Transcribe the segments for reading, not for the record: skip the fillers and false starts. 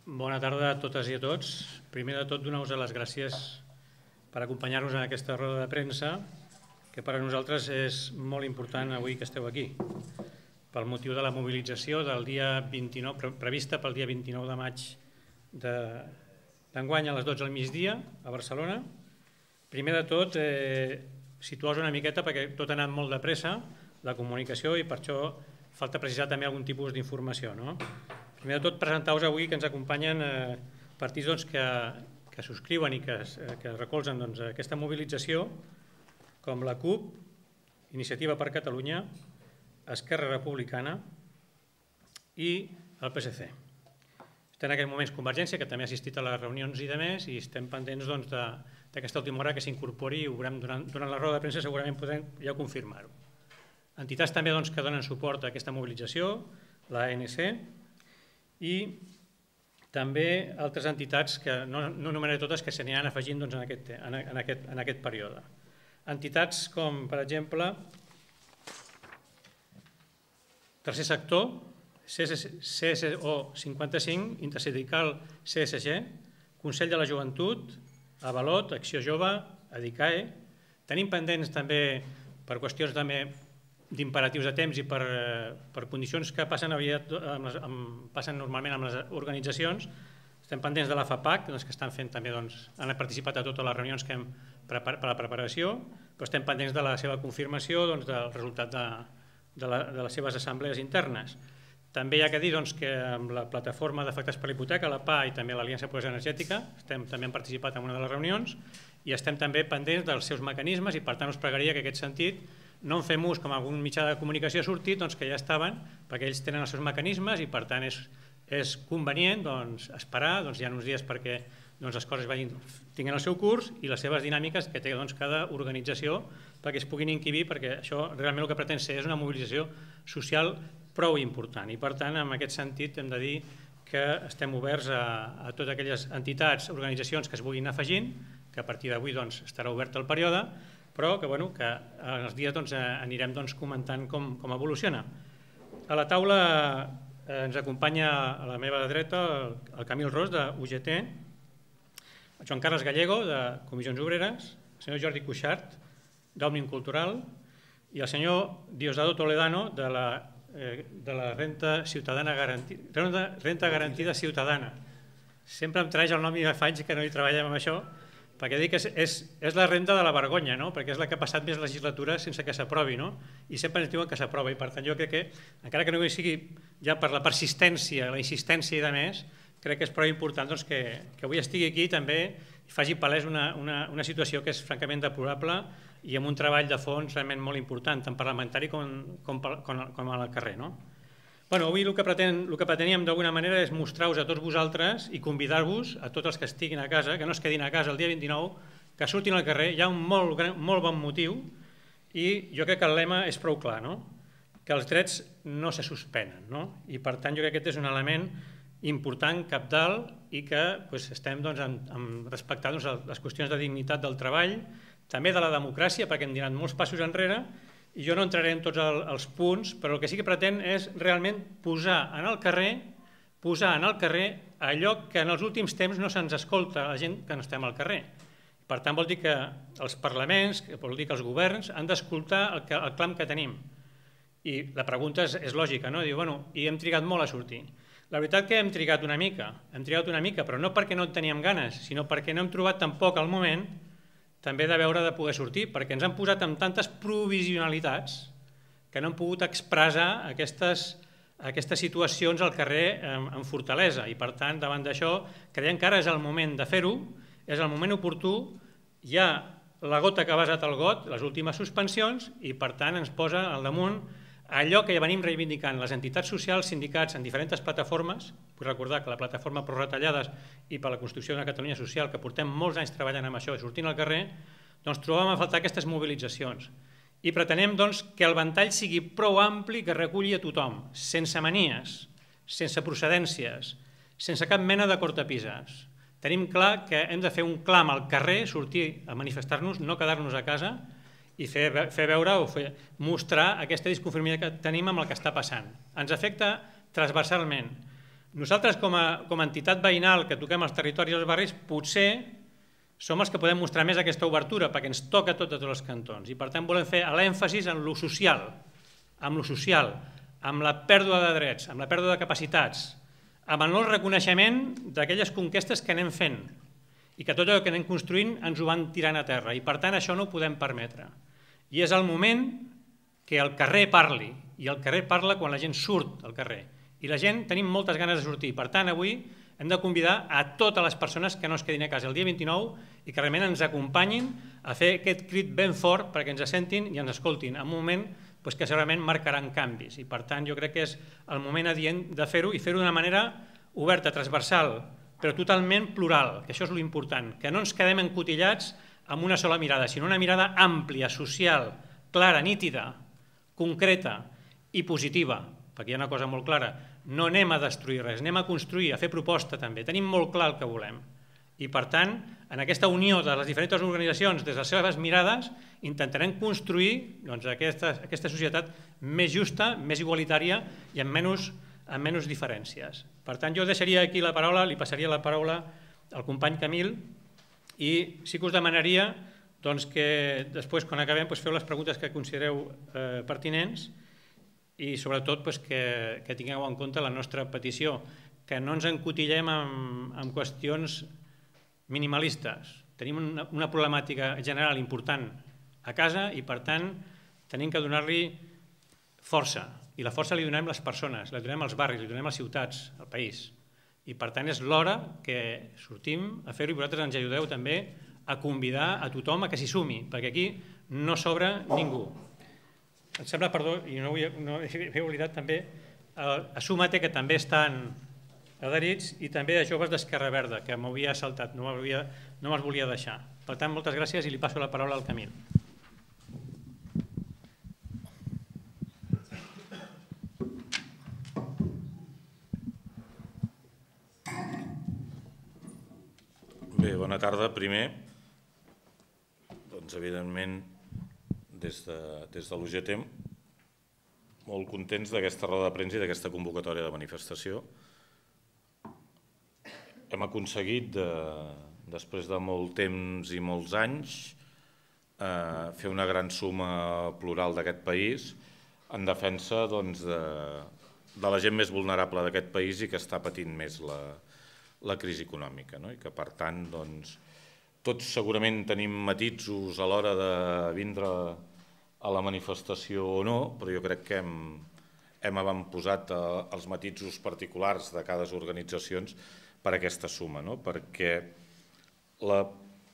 Bona tarda a totes i a tots. Primer de tot, donar-vos les gràcies per acompanyar-nos en aquesta roda de premsa, que per a nosaltres és molt important avui que esteu aquí, pel motiu de la mobilització del dia 29, prevista pel dia 29 de maig d'enguany a les 12 del migdia a Barcelona. Primer de tot, situar-vos una miqueta perquè tot ha anat molt de pressa, la comunicació, i per això falta precisar també algun tipus d'informació. Primer de tot, presentar-vos avui que ens acompanyen partits que subscriuen i que recolzen aquesta mobilització, com la CUP, Iniciativa per Catalunya, Esquerra Republicana i el PSC. Estem en aquests moments Convergència, que també ha assistit a les reunions i demés, i estem pendents d'aquesta última hora que s'incorpori i ho veurem durant la roda de premsa, segurament podrem ja confirmar-ho. Entitats també que donen suport a aquesta mobilització, l'ANC, i també altres entitats que no enumeraré totes, que s'aniran afegint en aquest període. Entitats com, per exemple, Tercer Sector, CSO 55, Intersindical CSG, Consell de la Joventut, Avalot, Acció Jove, Adicae. Tenim pendents també, per qüestions d'imperatius de temps i per condicions que passen normalment amb les organitzacions, estem pendents de la FAPAC, que estan fent també, han participat a totes les reunions que hem per a la preparació, però estem pendents de la seva confirmació, del resultat de les seves assemblees internes. També hi ha que dir que amb la plataforma d'afectats per la hipoteca, la PA, i també l'Aliança Pobresa Energètica, també hem participat en una de les reunions i estem també pendents dels seus mecanismes, i per tant us pregaria que en aquest sentit no en fem ús com algun mitjà de comunicació ha sortit, que ja estaven, perquè ells tenen els seus mecanismes i per tant és convenient esperar, hi ha uns dies perquè les coses tinguin el seu curs i les seves dinàmiques que té cada organització perquè es puguin encabir, perquè això realment el que pretén ser és una mobilització social prou important, i per tant en aquest sentit hem de dir que estem oberts a totes aquelles entitats, organitzacions que es vulguin afegint, que a partir d'avui estarà obert el període, però que en els dies anirem comentant com evoluciona. A la taula ens acompanya a la meva dreta el Camil Ros, de UGT, el Joan Carles Gallego, de Comissions Obreres, el senyor Jordi Cuixart, d'Òmnium Cultural, i el senyor Diosdado Toledano, de la Renda Garantida Ciutadana. Sempre em traeix el nom i fa anys que no hi treballem amb això, perquè dic que és la renda de la vergonya, perquè és la que ha passat més legislatura sense que s'aprovi, i sempre ens diuen que s'aprova, i per tant jo crec que, encara que no sigui ja per la persistència, la insistència i de més, crec que és prou important que avui estigui aquí també i faci palès una situació que és francament deplorable i amb un treball de fons realment molt important, tant parlamentari com al carrer. Avui el que preteníem d'alguna manera és mostrar-vos a tots vosaltres i convidar-vos a tots els que estiguin a casa, que no es quedin a casa el dia 29, que surtin al carrer. Hi ha un molt bon motiu i jo crec que el lema és prou clar, que els drets no se suspenen, i per tant jo crec que aquest és un element important, cabdal, i que estem respectant les qüestions de dignitat del treball, també de la democràcia, perquè hem donat molts passos enrere, i jo no entraré en tots els punts, però el que sí que pretén és realment posar en el carrer allò que en els últims temps no se'ns escolta a la gent que no estem al carrer. Per tant, vol dir que els parlaments, vol dir que els governs han d'escoltar el clam que tenim. I la pregunta és lògica, i hem trigat molt a sortir. La veritat que hem trigat una mica, però no perquè no en teníem ganes, sinó perquè no hem trobat tampoc el moment també de veure de poder sortir, perquè ens han posat amb tantes provisionalitats que no hem pogut expressar aquestes situacions al carrer amb fortalesa, i per tant davant d'això creiem que ara és el moment de fer-ho, és el moment oportú, hi ha la gota que ha vessat el got, les últimes suspensions, i per tant ens posa al damunt allò que ja venim reivindicant les entitats socials, sindicats en diferents plataformes. Vull recordar que la plataforma Pro Retallades i per la construcció d'una Catalunya social, que portem molts anys treballant amb això i sortint al carrer, trobàvem a faltar aquestes mobilitzacions. I pretenem que el ventall sigui prou ampli que reculli a tothom, sense manies, sense procedències, sense cap mena de cortapises. Tenim clar que hem de fer un clam al carrer, sortir a manifestar-nos, no quedar-nos a casa, i fer veure o mostrar aquesta disconformitat que tenim amb el que està passant. Ens afecta transversalment. nosaltres com a entitat veïnal que toquem els territoris i els barris potser som els que podem mostrar més aquesta obertura perquè ens toca a tots els cantons i per tant volem fer l'èmfasis en lo social, amb la pèrdua de drets, amb la pèrdua de capacitats, amb el no reconeixement d'aquelles conquestes que anem fent i que tot allò que anem construint ens ho van tirant a terra i per tant això no ho podem permetre. I és el moment que el carrer parli i el carrer parla quan la gent surt al carrer i la gent tenim moltes ganes de sortir. Per tant, avui hem de convidar a totes les persones que no es quedin a casa el dia 29 i que realment ens acompanyin a fer aquest crit ben fort perquè ens sentin i ens escoltin en un moment que segurament marcaran canvis. I per tant jo crec que és el moment adient de fer-ho i fer-ho d'una manera oberta, transversal, però totalment plural, que això és l'important, que no ens quedem encotillats amb una sola mirada, sinó una mirada àmplia, social, clara, nítida, concreta i positiva, perquè hi ha una cosa molt clara, no anem a destruir res, anem a construir, a fer proposta també, tenim molt clar el que volem. I per tant, en aquesta unió de les diferents organitzacions, des de les seves mirades, intentarem construir aquesta societat més justa, més igualitària i amb menys diferències. Per tant, jo deixaria aquí la paraula, li passaria la paraula al company Camil i sí que us demanaria que després, quan acabem, feu les preguntes que considereu pertinents i sobretot que tingueu en compte la nostra petició, que no ens encotillem en qüestions minimalistes. Tenim una problemàtica general important a casa i per tant tenim que donar-li força i la força li donem les persones, la donem als barris, li donem a les ciutats, al país i per tant és l'hora que sortim a fer-ho i vosaltres ens ajudeu també a convidar a tothom a que s'hi sumi perquè aquí no sobra ningú. Em sembla, perdó, i no he oblidat també a Súmate, que també estan adherits, i també a Joves d'Esquerra Verda, que m'havia saltat, no me'ls volia deixar. Per tant, moltes gràcies i li passo la paraula al Camil. Bé, bona tarda. Primer, evidentment, des de l'UGT, molt contents d'aquesta roda de premsa i d'aquesta convocatòria de manifestació. Hem aconseguit, després de molt temps i molts anys, fer una gran suma plural d'aquest país en defensa de la gent més vulnerable d'aquest país i que està patint més la crisi econòmica. I que, per tant, tots segurament tenim matisos a l'hora de vindre a la manifestació o no, però jo crec que hem avantposat els matisos particulars de cada organització per aquesta suma, perquè la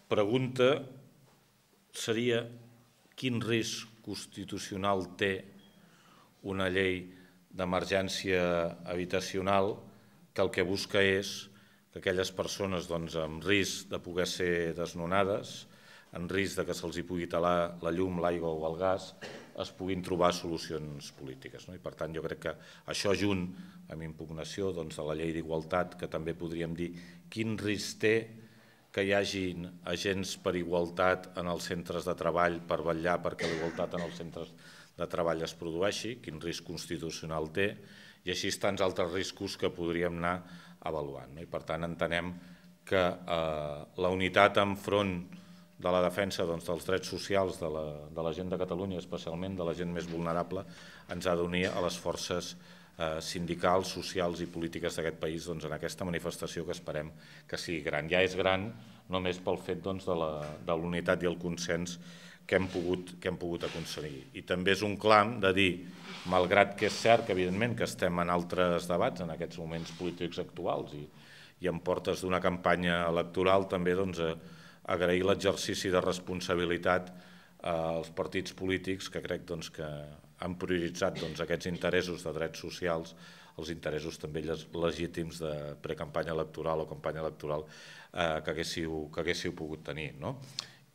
pregunta seria quin risc constitucional té una llei d'emergència habitacional que el que busca és que aquelles persones amb risc de poder ser desnonades, en risc que se'ls pugui talar la llum, l'aigua o el gas, es puguin trobar solucions polítiques. I per tant jo crec que això junt amb impugnació de la llei d'igualtat, que també podríem dir quin risc té que hi hagin agents per igualtat en els centres de treball per vetllar perquè la igualtat en els centres de treball es produeixi, quin risc constitucional té, i així tants altres riscos que podríem anar avaluant. I per tant entenem que la unitat enfront de la defensa dels drets socials de la gent de Catalunya, especialment de la gent més vulnerable, ens ha d'unir a les forces sindicals, socials i polítiques d'aquest país en aquesta manifestació que esperem que sigui gran. Ja és gran només pel fet de la unitat i el consens que hem pogut aconseguir. I també és un clam de dir, malgrat que és cert que evidentment que estem en altres debats en aquests moments polítics actuals i en portes d'una campanya electoral, també agrair l'exercici de responsabilitat als partits polítics que crec que han prioritzat aquests interessos de drets socials, els interessos també legítims de precampanya electoral o campanya electoral que haguéssiu pogut tenir.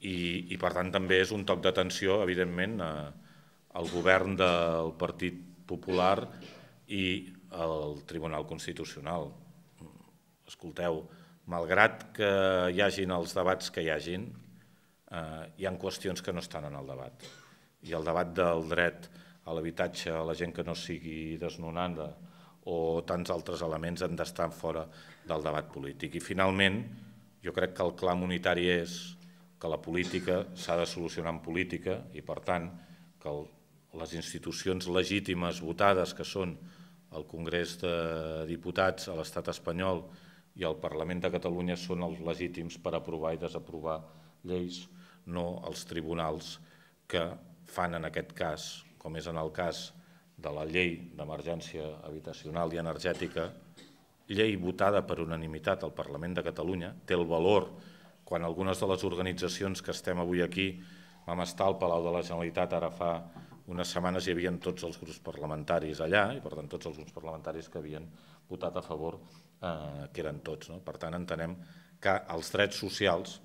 I per tant també és un toc d'atenció, evidentment, al govern del Partit Popular i al Tribunal Constitucional. Escolteu, malgrat que hi hagin els debats que hi hagin, hi ha qüestions que no estan en el debat. I el debat del dret a l'habitatge a la gent que no sigui desnonada o tants altres elements han d'estar fora del debat polític. I finalment, jo crec que el clam unitari és que la política s'ha de solucionar en política i, per tant, que les institucions legítimes votades, que són el Congrés de Diputats a l'Estat espanyol i el Parlament de Catalunya, són els legítims per aprovar i desaprovar lleis, no els tribunals que fan en aquest cas, com és en el cas de la llei d'emergència habitacional i energètica, llei votada per unanimitat al Parlament de Catalunya, té el valor quan algunes de les organitzacions que estem avui aquí vam estar al Palau de la Generalitat ara fa unes setmanes, hi havia tots els grups parlamentaris allà i per tant tots els grups parlamentaris que havien votat a favor, que eren tots. Per tant entenem que els drets socials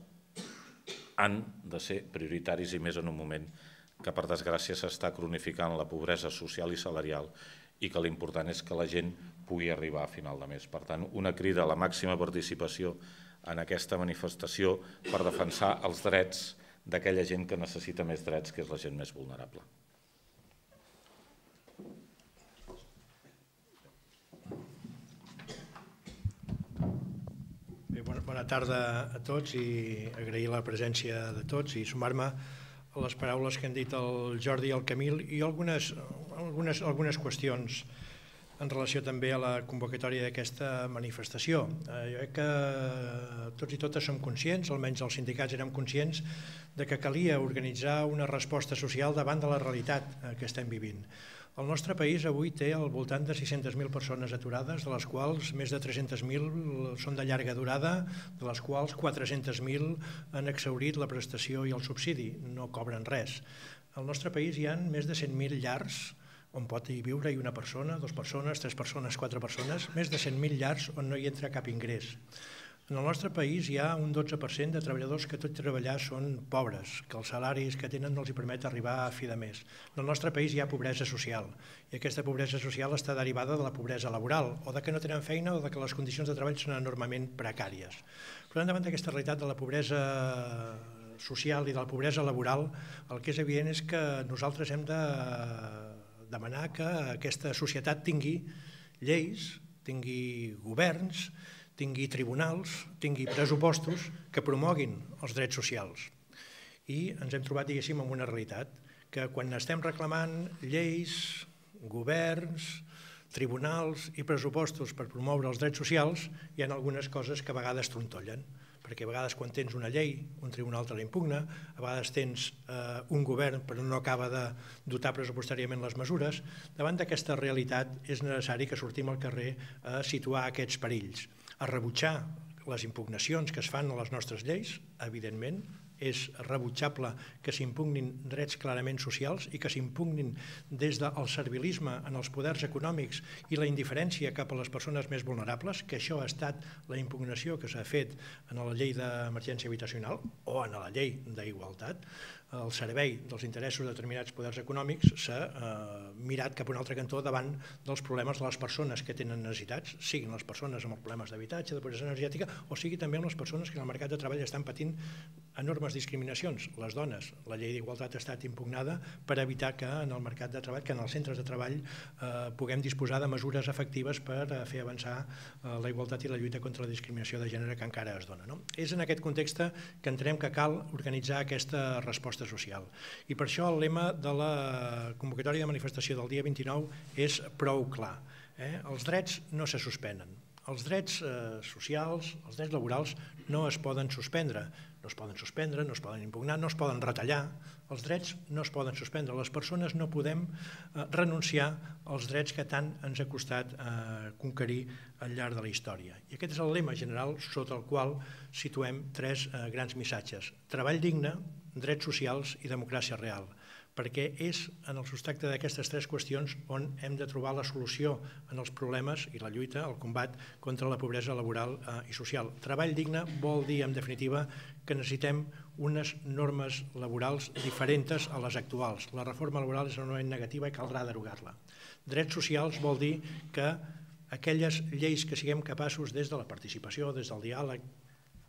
han de ser prioritaris i més en un moment que per desgràcia s'està cronificant la pobresa social i salarial i que l'important és que la gent pugui arribar a final de mes. Per tant, una crida a la màxima participació en aquesta manifestació per defensar els drets d'aquella gent que necessita més drets, que és la gent més vulnerable. Bona tarda a tots i agrair la presència de tots i sumar-me a les paraules que han dit el Jordi i el Camil i algunes qüestions en relació també a la convocatòria d'aquesta manifestació. Jo crec que tots i totes som conscients, almenys els sindicats érem conscients, de que calia organitzar una resposta social davant de la realitat que estem vivint. El nostre país avui té al voltant de 600.000 persones aturades, de les quals més de 300.000 són de llarga durada, de les quals 400.000 han exhaurit la prestació i el subsidi, no cobren res. Al nostre país hi ha més de 100.000 llars on pot hi viure una persona, 2 persones, 3 persones, 4 persones, més de 100.000 llars on no hi entra cap ingrés. En el nostre país hi ha un 12% de treballadors que tot i treballar són pobres, que els salaris que tenen no els permet arribar a fi de mes. En el nostre país hi ha pobresa social i aquesta pobresa social està derivada de la pobresa laboral o de que no tenen feina o de que les condicions de treball són enormement precàries. Per tant, davant d'aquesta realitat de la pobresa social i de la pobresa laboral, el que és evident és que nosaltres hem de demanar que aquesta societat tingui lleis, tingui governs, tingui tribunals, tingui pressupostos que promoguin els drets socials. I ens hem trobat, diguéssim, amb una realitat, que quan estem reclamant lleis, governs, tribunals i pressupostos per promoure els drets socials, hi ha algunes coses que a vegades trontollen, perquè a vegades quan tens una llei, un tribunal te la impugna, a vegades tens un govern però no acaba de dotar pressupostàriament les mesures. Davant d'aquesta realitat és necessari que sortim al carrer a situar aquests perills, a rebutjar les impugnacions que es fan a les nostres lleis, evidentment, és rebutjable que s'impugnin drets clarament socials i que s'impugnin des del servilisme en els poders econòmics i la indiferència cap a les persones més vulnerables, que això ha estat la impugnació que s'ha fet en la llei d'emergència habitacional o en la llei d'igualtat. El servei dels interessos de determinats poders econòmics s'ha mirat cap a un altre cantó davant dels problemes de les persones que tenen necessitats, siguin les persones amb els problemes d'habitatge, de pobresa energètica, o sigui també amb les persones que en el mercat de treball estan patint enormes discriminacions. Les dones, la llei d'igualtat ha estat impugnada per evitar que en el mercat de treball, que en els centres de treball puguem disposar de mesures efectives per fer avançar la igualtat i la lluita contra la discriminació de gènere que encara es dona. És en aquest context que entenem que cal organitzar aquesta resposta social. I per això el lema de la convocatòria de manifestació del dia 29 és prou clar. Els drets no se suspenen. Els drets socials, els drets laborals no es poden suspendre. No es poden suspendre, no es poden impugnar, no es poden retallar. Els drets no es poden suspendre. Les persones no podem renunciar als drets que tant ens ha costat conquerir al llarg de la història. I aquest és el lema general sota el qual situem 3 grans missatges. Treball digne, drets socials i democràcia real, perquè és en el substracte d'aquestes 3 qüestions on hem de trobar la solució en els problemes i la lluita, el combat contra la pobresa laboral i social. Treball digne vol dir, en definitiva, que necessitem unes normes laborals diferents a les actuals. La reforma laboral és enormement negativa i caldrà derogar-la. Drets socials vol dir que aquelles lleis que siguem capaços des de la participació, des del diàleg,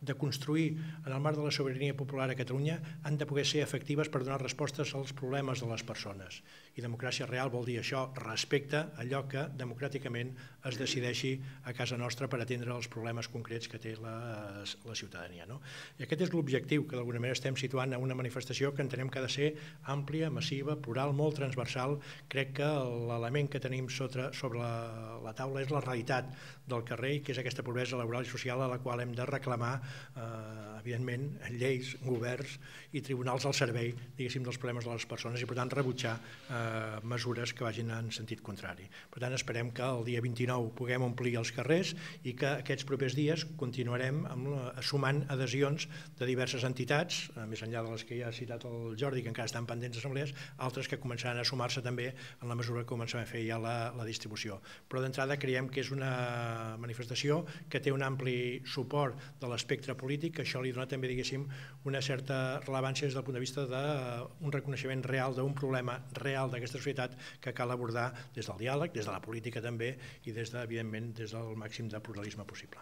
de construir en el marc de la sobirania popular a Catalunya han de poder ser efectives per donar respostes als problemes de les persones. I democràcia real vol dir això, respecte a allò que democràticament es decideixi a casa nostra per atendre els problemes concrets que té la ciutadania. I aquest és l'objectiu que d'alguna manera estem situant a una manifestació que entenem que ha de ser àmplia, massiva, plural, molt transversal. Crec que l'element que tenim sobre la taula és la realitat del carrer, que és aquesta pobresa laboral i social a la qual hem de reclamar, evidentment, lleis, governs i tribunals al servei, diguéssim, dels problemes de les persones i, per tant, rebutjar mesures que vagin en sentit contrari. Per tant, esperem que el dia 29 puguem omplir els carrers i que aquests propers dies continuarem sumant adhesions de diverses entitats, més enllà de les que ja ha citat el Jordi, que encara estan pendents d'assemblees, altres que començaran a sumar-se també en la mesura que comencem a fer ja la distribució. Però d'entrada creiem que és una manifestació que té un ampli suport de l'espectre polític, que això li dona també, diguéssim, una certa rellevància des del punt de vista d'un reconeixement real d'un problema real d'aquesta societat que cal abordar des del diàleg, des de la política també i evidentment des del màxim de pluralisme possible.